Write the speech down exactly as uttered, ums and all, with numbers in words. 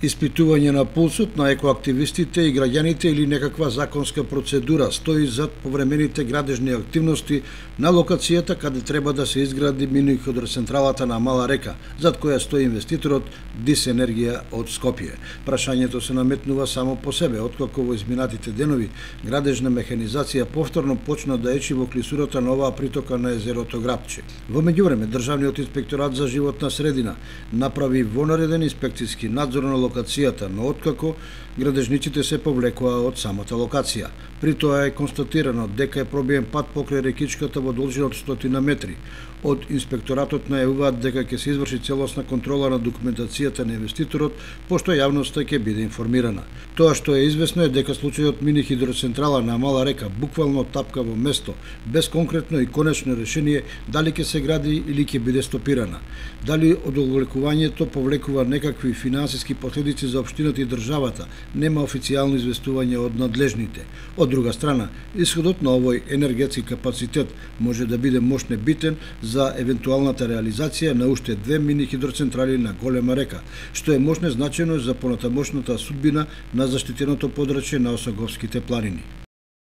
Испитување на пулсот на екоактивистите и граѓаните или некаква законска процедура стои зад повремените градежни активности на локацијата каде треба да се изгради мини хидроцентралата на Мала река, зад која стои инвеститорот Дис Енергија од Скопје. Прашањето се наметнува само по себе, откако во изминатите денови градежна механизација повторно почна да ечи во клисурата на оваа притока на езерото Грабче. Во меѓувреме, Државниот инспекторат за животна средина направи вонареден инспекцијски надзор на локацијата, но откако градежниците се повлекоа од самата локација. При тоа е констатирано дека е пробиен пат покрај рекичката во должина од стотина метри. Од инспекторатот најавуваат дека ќе се изврши целосна контрола на документацијата на инвеститорот, пошто јавноста ќе биде информирана. Тоа што е известно е дека случајот мини хидроцентрала на Мала река буквално тапка во место, без конкретно и конечно решение дали ќе се гради или ќе биде стопирана. Дали одолглекувањето повлекува некакви финансиски последици за општината и државата, нема официјално известување од надлежните. Од друга страна, исходот на овој енергетски капацитет може да биде мощне битен за евентуалната реализација на уште две мини хидроцентрали на Голема река, што е мощне значено за понатамошната судбина на заштитеното подрачје на Осоговските планини.